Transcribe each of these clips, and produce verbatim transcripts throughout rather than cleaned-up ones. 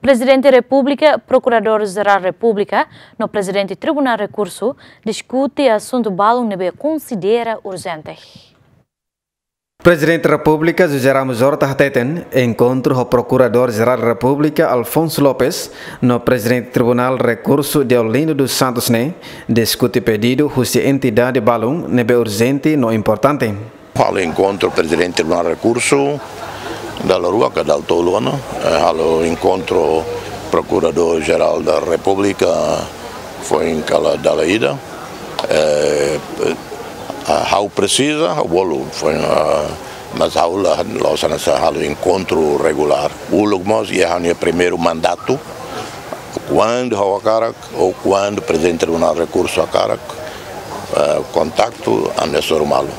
Prezidente Repúblika, Prokuradór-Jerál Repúblika no Prezidente Tribunál Rekursu diskute asuntu balun ne'ebé konsidera urjente. Prezidente Repúblika José Ramos Horta hateten, enkontru ho Prokuradór-Jerál Repúblika Afonso Lopes no Prezidente Tribunál Rekursu Deolindo dos Santos ne'e diskute pedidu husi entidade balun ne'ebé urjente no importante. Halo enkontru Prezidente Tribunál Rekursu dala rua ka dala tolu ona, eh, halo enkontru Prokuradór-Jerál da Repúblika foin kala dala ida. Eh, ah, ha'u presiza, ha'u bolu, foin, ah, mas ha'u la, la'ós hanesan halo enkontru regulár. Uluk mós iha ha'u-nia primeiru mandatu, kuandu ha'u hakarak, ou kuandu Prezidente Tribunál Rekursu hakarak, eh, kontaktu, ami hasoru malu.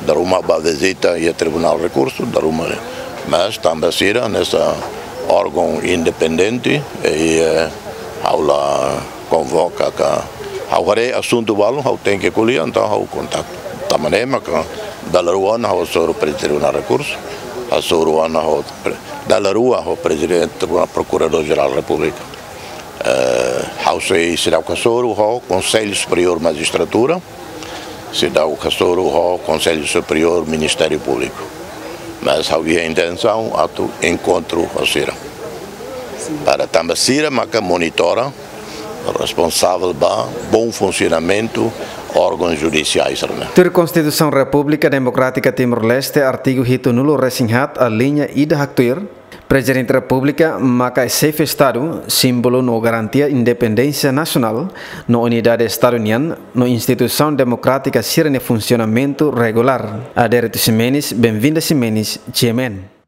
Dala ruma bá vizita iha Tribunál Rekursu, dala ruma, mas tanba sira hanesan órgaun independente, i, eh, ha'u la konvoka ka, ha'u haree asuntu balun, ha'u tenke ko'alia, entaun ha'u kontaktu. Tanba ne'e maka dala rua ona ha'u hasoru Prezidente Tribunál Rekursu, hasoru ona ho pre-, dala rua ho Prezidente Tribunál, Prokuradór-Jerál Repúblika. Eh, ha'u sei seidauk hasoru ho Konsellu Superiór Majistratura, seidauk hasoru ho Konsellu Superiór Ministériu Públiku. Mas ha'u iha intensaun atu enkontru ho sira. Para tanba sira maka monitora, responsavel ba bom funsionamentu órgaun judisiál sira-ne'e. Tuir Konstituisaun Repúblika Demokrátika Timor-Leste, artigu hitunulu-resin-haat, aliña ida haktuir, Prezidente Repúblika maka xefe Estadu, símbolu no garantia independénsia nasionál no unidade Estadu nian, no instituisaun demokrátika sira-nia funsionamentu regulár. Adérito Ximenes, Benvinda Ximenes, G M N.